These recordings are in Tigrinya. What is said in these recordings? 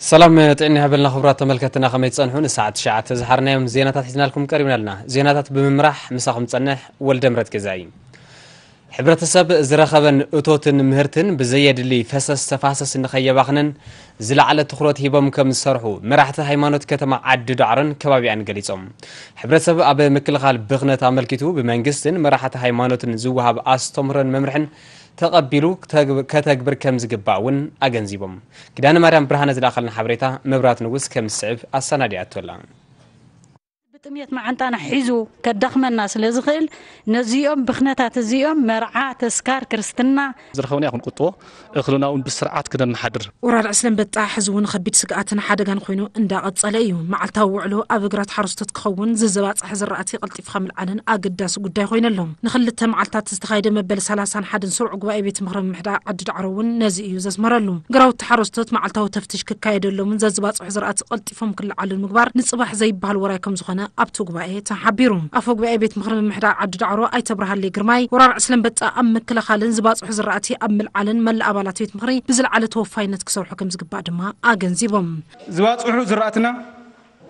ሰላም ጥዕና ይሃበልና ክቡራት ተመልከትና፣ ከመይ ትጸንሑ? ንሰዓት ትሽዓተ ዝሓርናዮም ዜናታት ሒዝናልኩም ቀሪብና ኣለና። ዜናታት ብምምራሕ ምሳኹም ጸንሕ ወልደ ምረት ገዛኢ። ሕብረተሰብ ዝረኸበን እቶትን ምህርትን ብዘየድሊ ፈሰስ ተፋሰስ ንኸየባኽንን ዝለዓለ ትኹረት ሂቦም ከም ዝሰርሑ መራሕቲ ሃይማኖት ከተማ ዓዲ ዳዕሮን ከባቢኣን ገሊጾም። ሕብረተሰብ ኣብ ምክልኻል ብኽነት ኣመልኪቱ ብመንግስትን መራሕቲ ሃይማኖትን ዝወሃብ ኣስተምህሮን መምርሕን ተቐቢሉ ከተግብ-፣ ከተግብር ከም ዝግባእ እውን ኣገንዚቦም። ኪዳነ ማርያም ብርሃነ ዝለኣኸልና ሓበሬታ መብራት ንጉስ ከም ዝስዕብ ኣሰናዲኣቶ ኣላ። ብጥሜት መዓንጣና ሒዙ ከዳኽመና ስለ ዝኽእል፣ ነዚኦም ብኽነታት እዚኦም መርዓ፣ ተስካር፣ ክርስትና፣ ዝረኸብናዮ ክንቁጥቦ፣ እኽልና እውን ብስርዓት ክነመሓድር። ወራር ዕስለ ኣንበጣ ሕዚ እውን ከቢድ ስግኣትን ሓደጋን ኮይኑ እንዳቐጸለ እዩ። መዓልታዊ ውዕሎ ኣብ እግራት ሓረስቶት ክኸውን፣ ዝዝባጽሐ ዝራእቲ ቀልጢፍካ ምልዓልን ኣገዳሲ ጉዳይ ኮይኑ ኣሎ። ንኽልተ መዓልታት ዝተኻየደ መበል ሰላሳን ሓደን ስሩዕ ጉባኤ ቤት ምኽሪ ምምሕዳር ዓዲ ዳዕሮ እውን ነዚ እዩ ዘስመረሉ። ግራውቲ ሓረስቶት መዓልታዊ ተፍትሽ ክካየደሎምን ዘዝባጽሑ ዝራእቲ ቀልጢፎም ክለዓሉ ምግባር ንጽባሕ ዘይበሃል ወራይ ከም ዝኾነ ኣብቲ ጉባኤ ተሓቢሩ። ኣፈ ጉባኤ ቤት ምኽሪ ምምሕዳር ዓዲ ዳዕሮ ኣይተ ብርሃለይ ግርማይ፣ ወራር ዕስለ ኣንበጣ ኣብ ምክልኻልን ዝባጽሑ ዝራእቲ ኣብ ምልዓልን መላእ ኣባላት ቤት ምኽሪ ብዝለዓለ ተወፋይነት ክሰርሑ ከም ዝግባእ ድማ ኣገንዚቦም። ዝባጽሑ ዝራእትና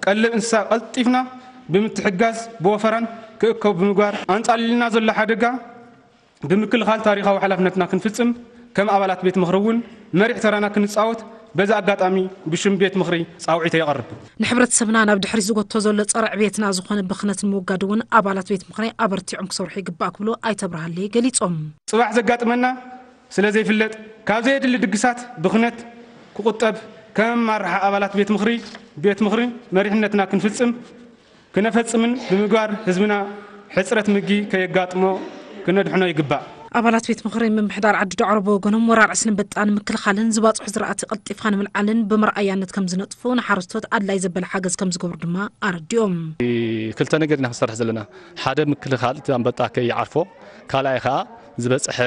ቀለብ እንስሳ ቀልጢፍና ብምትሕጋዝ ብወፈራን ክእከቡ ብምግባር፣ ኣንጻሊልና ዘሎ ሓደጋ ብምክልኻል ታሪኻዊ ሓላፍነትና ክንፍጽም፣ ከም ኣባላት ቤት ምኽሪ እውን መሪሕ ተራና ክንጻወት በዚ ኣጋጣሚ ብሽም ቤት ምኽሪ ጻውዒተይ የቐርብ። ንሕብረተሰብና ናብ ድሕሪት ዝጎቶ ዘሎ ጸረ ዕብየትና ዝኾነ ብኽነት ንምውጋድ እውን ኣባላት ቤት ምኽሪ ኣበርቲዖም ክሰርሑ ይግባእ ክብሉ ኣይተ ብርሃለይ ገሊጾም። ጽባሕ ዘጋጥመና ስለ ዘይፍለጥ፣ ካብ ዘየድሊ ድግሳት ብኽነት ክቑጠብ፣ ከም ኣመራርሓ ኣባላት ቤት ምኽሪ፣ ቤት ምኽሪ መሪሕነትና ክንፍጽም፣ ክነፈጽምን ብምግባር ህዝብና ሕጽረት ምግቢ ከየጋጥሞ ክነድሕኖ ይግባእ። ኣባላት ቤት ምኽሪ ምምሕዳር ዓዲ ዳዕሮ ብወገኖም፣ ወራር ዕስለ ኣንበጣ ንምክልኻልን ዝባጽሑ ዝራእቲ ቀልጢፍካ ንምልዓልን ብመርኣያነት ከም ዝነጥፉ፣ ንሓረስቶት ኣድላይ ዘበለ ሓገዝ ከም ዝገብሩ ድማ ኣረዲኦም። ክልተ ነገር ኢና ክንሰርሕ ዘለና። ሓደ ምክልኻል እቲ ኣንበጣ ከይዓርፎ፣ ካልኣይ ኸኣ ዝበጽሐ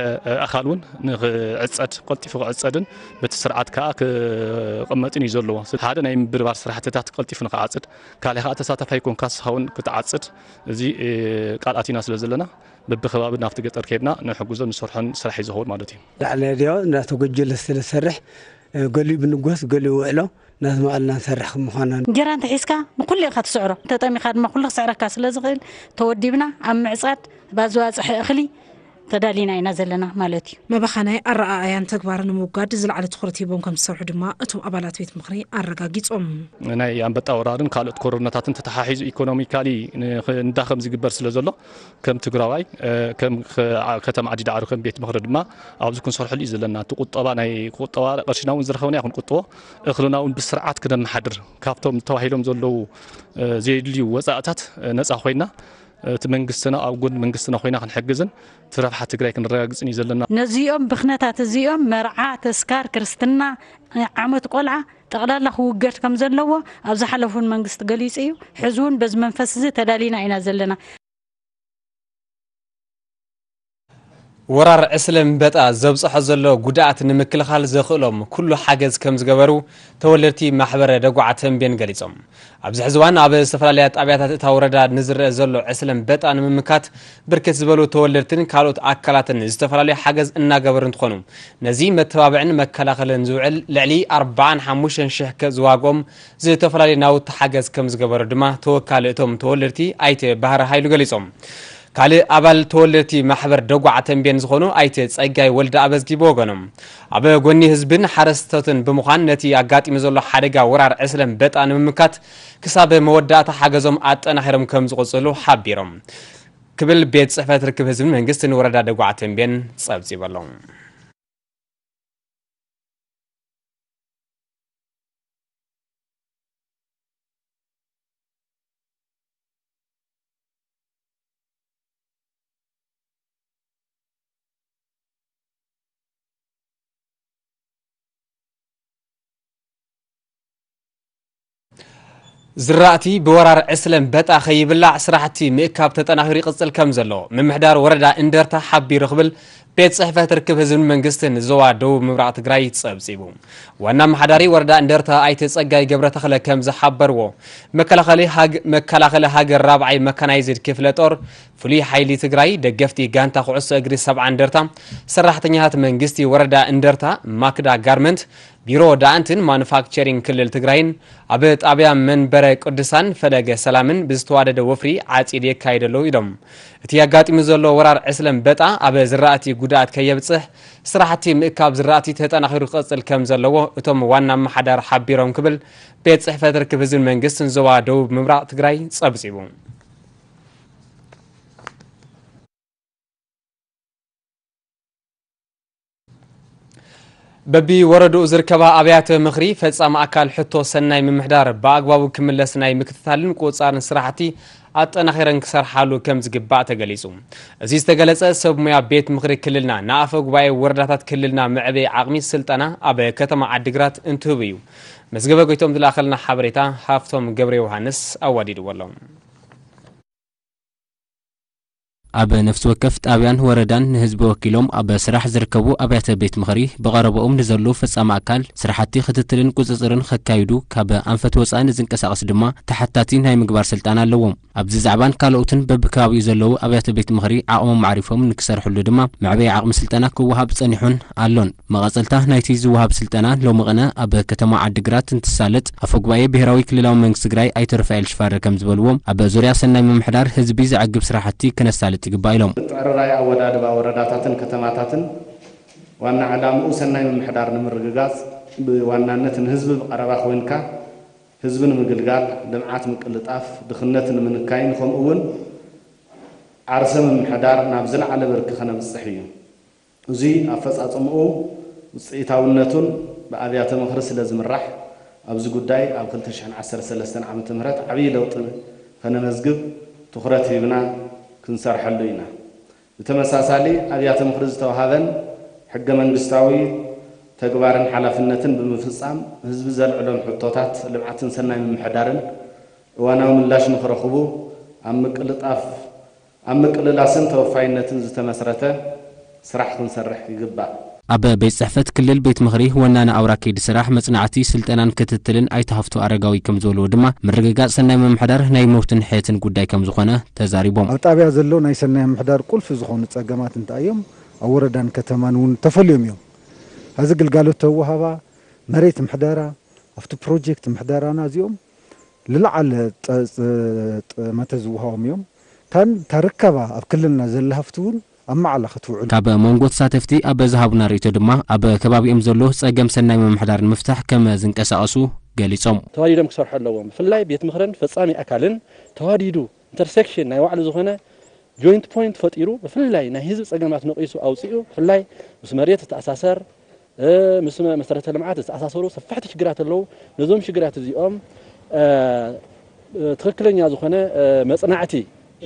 ኣኻል እውን ንኽዕጸድ፣ ቀልጢፉ ክዕጸድን በቲ ስርዓት ከኣ ክቕመጥን እዩ ዘለዎ። ሓደ ናይ ምብርባር ስራሕትታት ቀልጢፉ ንኽዓጽድ፣ ካልኣይ ኸኣ ተሳታፋይ ኮንካ ንስኻ እውን ክትዓጽድ፣ እዚ ቃል ኣቲና ስለ ዘለና፣ በብኸባቢ ናብቲ ገጠር ከይድና ንሕግዞ ንሰርሖን ስራሕ እዩ ዝኸውን ማለት እዩ። ላዕሊ ድዮ እንዳተጎጀለ ስለ ዝሰርሕ፣ ገሊኡ ብንጎስ፣ ገሊኡ ውዕሎ እናዝመቐልና ንሰርሕ ከም ምዃና። እንጀራ እንተሒዝካ ንኩሉ ኢኻ ትስዕሮ፣ እንተጠሚኻ ድማ ኩሉ ክስዕረካ ስለ ዝኽእል፣ ተወዲብና ኣብ ምዕጻድ፣ ባዝባጽሒ እኽሊ ተዳሊና ኢና ዘለና ማለት እዩ። መባኸናይ ኣረኣእያን ተግባርን ንምውጋድ ዝለዓለ ትኹረት ሂቦም ከም ዝሰርሑ ድማ እቶም ኣባላት ቤት ምኽሪ ኣረጋጊጾም። ናይ ኣንበጣ ወራርን ካልኦት ኮሮናታትን ተተሓሒዙ ኢኮኖሚካሊ ንኽንዳኸም ዝግበር ስለ ዘሎ፣ ከም ትግራዋይ፣ እ፣ ከም ከ-፣ ዓ-፣ ከተማ ዓዲ ዳዕሮ ከም ቤት ምኽሪ ድማ ኣብዚ ክንሰርሐሉ እዩ ዘለና። እቲ ቁጠባ ናይ ቁጠባ ቅርሽና እውን ዝረኸብና ይኹን ቁጥቦ እኽልና እውን ብስርዓት ክነመሓድር፣ ካብቶም ተባሂሎም ዘለዉ፣ እ፣ ዘየድልዩ ወፃእታት፣ እ፣ ነፃ ኮይና፣ እቲ መንግስትና ኣብ ጎን መንግስትና ኮይና ክንሕግዝን እቲ ረብሓ ትግራይ ክንረጋግጽን እዩ ዘለና። ነዚኦም ብኽነታት እዚኦም መርዓ፣ ተስካር፣ ክርስትና፣ ዓመት ቆልዓ ጠቕላላ ክውገድ ከም ዘለዎ ኣብ ዝሓለፉን መንግስቲ ገሊጹ እዩ። ሕዚ እውን በዚ መንፈስ እዚ ተዳሊና ኢና ዘለና። ወራር ዕስለ እምበጣ ዘብጽሖ ዘሎ ጉድኣት ንምክልኻል ዘኽእሎም ኩሉ ሓገዝ ከም ዝገበሩ ተወለድቲ ማሕበረ ደጉዓ ተንቤን ገሊጾም። ኣብዚ ሕዚ እዋን ኣብ ዝተፈላለያ ጣብያታት እታ ወረዳ ንዝረአ ዘሎ ዕስለ እምበጣ ንምምካት ብርክት ዝበሉ ተወለድትን ካልኦት ኣካላትን ዝተፈላለዩ ሓገዝ እናገበሩ እንትኾኑ፣ ነዚ መተባብዕን መከላኸልን ዝውዕል ልዕሊ ኣርባዓን ሓሙሽተን ሽሕ ከ-፣ ዝዋግኦም ዝተፈላለዩ ናውቲ ሓገዝ ከም ዝገበሩ ድማ ተወካሊ እቶም ተወለድቲ ኣይተ ባህረ ሃይሉ ገሊጾም። ካልእ ኣባል ተወለድቲ ማሕበር ደጉዓ ተንቤን ዝኾኑ ኣይተ ጸጋይ ወልደ ኣበዝጊ ብወገኖም፣ ኣብ ጎኒ ህዝብን ሓረስቶትን ብምዃን ነቲ ኣጋጢሙ ዘሎ ሓደጋ ወራር ዕስለ እምበጣ ንምምካት ክሳብ መወዳእታ ሓገዞም ኣጠናኺሮም ከም ዝቕጽሉ ሓቢሮም ክብል ቤት ጽሕፈት ርክብ ህዝብን መንግስትን ወረዳ ደጉዓ ተንቤን ጸብጺቡ ኣሎ። ዝራእቲ ብወራር ዕስለ እምበጣ ከይብላዕ ስራሕቲ ምእካብ ተጠናኺሩ ይቕጽል ከም ዘሎ ምምሕዳር ወረዳ እንደርታ ሓቢሩ ክብል ቤት ጽሕፈት ርክብ ህዝብን መንግስትን ዞባ ደቡብ ምብራቕ ትግራይ ጸብጺቡ። ዋና ኣመሓዳሪ ወረዳ እንደርታ ኣይተ ጸጋይ ገብረ ተኽለ ከም ዝሓበርዎ፣ መከላኸሊ ሃግ-፣ መከላኸሊ ሃገር ራብዓይ መካናይዝድ ክፍለ ጦር፣ ፍሉይ ሓይሊ ትግራይ፣ ደገፍቲ ጋንታ ኩዕሶ እግሪ ሰብዓ እንደርታ፣ ሰራሕተኛታት መንግስቲ ወረዳ እንደርታ፣ ማክዳ ጋርመንት፣ ቢሮ ደኣንትን ማኑፋክቸሪንግ ክልል ትግራይን ኣብ ጣብያ መንበረ ቅዱሳን ፈለገ ሰላምን ብዝተዋደደ ወፍሪ ዓፂድ የካይዱ ኣለዉ ኢሎም። እቲ ኣጋጢሙ ዘሎ ወራር ዕስለ ኣንበጣ ኣብ ዝራእቲ ጉድኣት ከየብፅሕ ስራሕቲ ምእካብ ዝራእቲ ተጠናኺሩ ክቐፅል ከም ዘለዎ እቶም ዋና ኣመሓዳር ሓቢሮም ክብል ቤት ፅሕፈት ርክብ ህዝብን መንግስትን ዞባ ደቡብ ምብራቕ ትግራይ ፀብፂቡ። በቢወረድኡ ዝርከባ ኣብያተ ምኽሪ ፈጻሚ ኣካል ሕቶ ሰናይ ምምሕዳር ብኣግባቡ ክምለስ ናይ ምክትታልን ቁጽጻርን ስራሕቲ ኣጠናኺረን ክሰርሓሉ ከም ዝግባእ ተገሊጹ። እዚ ዝተገለጸ ሰብ ሙያ ቤት ምኽሪ ክልልና ንኣፈ ጉባኤ ወረዳታት ክልልና መዕበዪ ዓቕሚ ስልጠና ኣብ ከተማ ዓዲግራት እንትህቡ እዩ። መዝገበ ጎይቶም ዝለኣኸልና ሓበሬታ ሃፍቶም ገብረ ዮሃንስ ኣዋዲድዎ ኣሎ። ኣብ ነፍሲ ወከፍ ጣብያን ወረዳን ንህዝቢ ወኪሎም ኣብ ስራሕ ዝርከቡ ኣብያተ ቤት ምኽሪ ብቐረባኦም ንዘሉ ፈጻሚ ኣካል ስራሕቲ ክትትልን ቁጽጽርን ከካይዱ ካብ ኣንፈት ወጻኢ ንዝንቀሳቐስ ድማ ተሓታቲ ናይ ምግባር ስልጣን ኣለዎም። ኣብዚ ዛዕባን ካልኦትን በብከባቢኡ ዘለዉ ኣብያተ ቤት ምኽሪ ዓቕሞም ኣዕሪፎም ንክሰርሕሉ ድማ መዕበዪ ዓቕሚ ስልጠና ክወሃብ ጸኒሑን ኣሎን። መቐጸልታ ናይቲ ዝወሃብ ስልጠና ሎሚ ቅነ ኣብ ከተማ ዓዲግራት እንትሳለጥ ኣፈ ጉባኤ ብሄራዊ ክልላዊ መንግስቲ ትግራይ ኣይተ ሩፋኤል ሽፋረ ከም ዝበልዎ ኣብ ዙርያ ሰናይ ምምሕዳር ህዝቢ ዘዕግብ ስራሕቲ ክነሳልጥ ይግባእ ኢሎም። ምትዕርራይ ኣወዳድባ ወረዳታትን ከተማታትን ዋና ዕላምኡ ሰናይ ምምሕዳር ንምርግጋጽ ብዋናነት ንህዝቢ ብቐረባ ኮይንካ ህዝቢ ንምግልጋል፣ ልምዓት ምቅልጣፍ፣ ድኽነት ንምንካይን ከምኡ እውን ዓርሰ ምምሕዳር ናብ ዝለዓለ ብርኪ ከነብጽሕ እዩ። እዚ ኣፈጻጽምኡ ውፅኢታውነቱን ብኣብያተ ምኽሪ ስለ ዝምራሕ ኣብዚ ጉዳይ ኣብ ክልተ ሽሕን ዓሰርተ ሰለስተን ዓመተ ምህረት ዓብዪ ለውጢ ከነመዝግብ ትኹረት ሂብና ክንሰርሐሉ ኢና። ብተመሳሳሊ ኣብያተ ምኽሪ ዝተውሃበን ሕገ መንግስታዊ ተግባርን ሓላፍነትን ብምፍጻም ህዝቢ ዘልዕሎም ሕቶታት ልምዓትን ሰናይ ምምሕዳርን እዋናዊ ምላሽ ንኽረኽቡ ኣብ ምቅልጣፍ ኣብ ምቅልላስን ተወፋይነትን ዝተመስረተ ስራሕ ክንሰርሕ ይግባእ። ኣብ ቤት ጽሕፈት ክልል ቤት ምኽሪ ወናኒ ኣውራ ከይዲ ስራሕ መጽናዕቲ ስልጠናን ክትትልን ኣይተ ሃፍቱ ኣረጋዊ ከም ዝበልዎ ድማ ምርግጋጽ ሰናይ ምምሕዳር ናይ መውትን ሕየትን ጉዳይ ከም ዝኾነ ተዛሪቦም። ኣብ ጣብያ ዘሎ ናይ ሰናይ ምምሕዳር ቁልፊ ዝኾኑ ጸገማት እንታይ እዮም? ኣብ ወረዳን ከተማን እውን ተፈልዮም እዮም። እዚ ግልጋሎት ተወሃባ መሬት ምሕደራ ኣብቲ ፕሮጀክት ምሕደራና እዚኦም ልለዓለ ጠ- ጠ- ጠመተ ዝወሃቦም እዮም። ታን ታርከባ ኣብ ክልልና ዘላ ሃፍቲ እውን ኣብ ማዕላ ክትውዕል ካብ መንጎ ተሳተፍቲ ኣብ ዝሃቡና ርእይቶ ድማ ኣብ ከባቢኦም ዘሎ ጸገም ሰናይ ምምሕዳር ንምፍታሕ ከም ዝንቀሳቐሱ ገሊጾም። ተዋዲዶም ክሰርሑ ኣለዎም። ብፍላይ ቤት ምኽርን ፈጻሚ ኣካልን ተዋዲዱ ኢንተርሴክሽን ናይ ባዕሉ ዝኾነ ጆይንት ፖይንት ፈጢሩ ብፍላይ ናይ ህዝቢ ጸገማት ነቒሱ ኣውጺኡ ብፍላይ ምስ መሬት ዝተኣሳሰር እ፣ ምስ መ- መሰረተ ልምዓት ዝተኣሳሰሩ ሰፋሕቲ ሽግራት ኣለዉ። ነዞም ሽግራት እዚኦም እ፣ እ፣ ትኽክለኛ ዝኾነ እ፣ መጽናዕቲ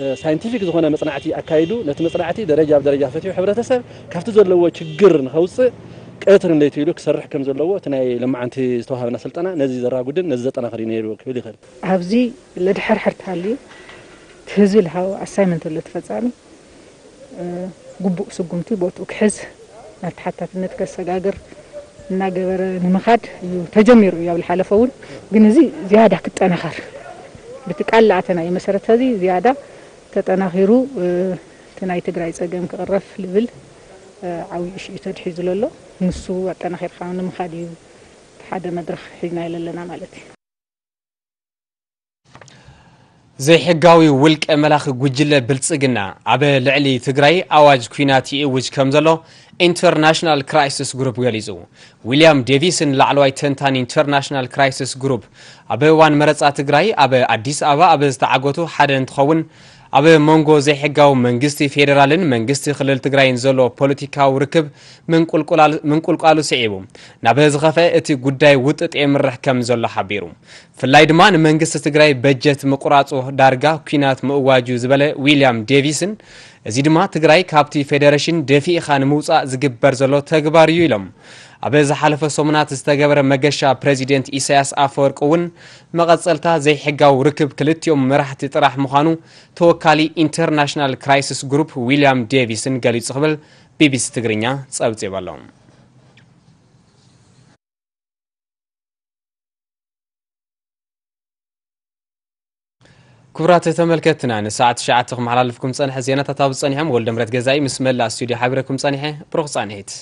እ፣ ሳይንቲፊክ ዝኾነ መጽናዕቲ ኣካይዱ ነቲ መጽናዕቲ ደረጃ ብደረጃ ፈትሑ ሕብረተሰብ ካብቲ ዘለዎ ችግር ንኸውፅእ ቀትርን ለይቲ ኢሉ ክሰርሕ ከም ዘለዎ እቲ ናይ ለማዓንቲ ዝተዋሃበና ስልጠና ነዚ ዘራጉድን ነዚ ዘጠናኽር እዩ ነይሩ ክብል ይኽእል። ኣብዚ ለድሕርሕር ተሃልዩ እቲ ህዝቢ ልሃቦ ኣሳይመንት ኣሎ ተፈጻሚ ግቡእ ስጉምቲ ቦትኡ ክሕዝ ናብ ተሓታትነት ከሰጋግር እናገበረ ንምኻድ እዩ ተጀሚሩ እዩ ኣብ ዝሓለፈ እውን። ግን እዚ ዝያዳ ክጠናኸር ብቲ ቃል ለኣተናዮ መሰረት እዚ ዝያዳ ተጠናኺሩ እቲ ናይ ትግራይ ጸገም ክቕረፍ ልብል ዓብዪ እሽእዩ ተድሒዙ ዘሎ። ንሱ ኣጠናኺርካ ንምኻድ እዩ እቲ ሓደ መድረኽ ሒዝናዮ ዘለና ማለት እዩ። ዘይሕጋዊ ውልቀ መላኺ ጉጅለ ብልጽግና ኣብ ልዕሊ ትግራይ ኣዋጅ ኲናት ይእውጅ ከም ዘሎ ኢንተርናሽናል ክራይሲስ ግሩፕ ገሊጹ። ዊልያም ዴቪስ ንላዕለዋይ ተንታኒ ኢንተርናሽናል ክራይሲስ ግሩፕ ኣብ እዋን መረጻ ትግራይ ኣብ ኣዲስ ኣበባ ኣብ ዝተዓገቱ ሓደ እንትኸውን ኣብ መንጎ ዘይሕጋዊ መንግስቲ ፌዴራልን መንግስቲ ክልል ትግራይን ዘሎ ፖለቲካዊ ርክብ ምንቁልቁላል- ምንቁልቋሉ ስዒቡ ናብ ዝኸፈ እቲ ጉዳይ ውጥጥ የምርሕ ከም ዘሎ ሓቢሩ። ብፍላይ ድማ ንመንግስቲ ትግራይ በጀት ምቁራፁ ዳርጋ ኲናት ምእዋጁ ዝበለ ዊልያም ዴቪስን እዚ ድማ ትግራይ ካብቲ ፌደሬሽን ደፊእኻ ንምውፃእ ዝግበር ዘሎ ተግባር እዩ ኢሎም። ኣብ ዝሓለፈ ሰሙናት ዝተገበረ መገሻ ፕሬዚደንት ኢሳያስ ኣፈወርቂ እውን መቐፀልታ ዘይሕጋዊ ርክብ ክልቲኦም መራሕቲ ጥራሕ ምዃኑ ተወካሊ ኢንተርናሽናል ክራይሲስ ግሩፕ ዊልያም ዴቪስን ገሊጹ ክብል ቢቢሲ ትግርኛ ጸብጺቡ ኣሎ። ክቡራት ተመልከትና ንሰዓት ትሽዓተ ክመሓላልፍኩም ጸንሐ ዜናታት ኣብ ጸኒሖም ወልደ ምረት ገዛኢ ምስ መላእ ስቱዲዮ ሓቢረኩም ጸኒሐ። ብሩኽ ጻንሒት።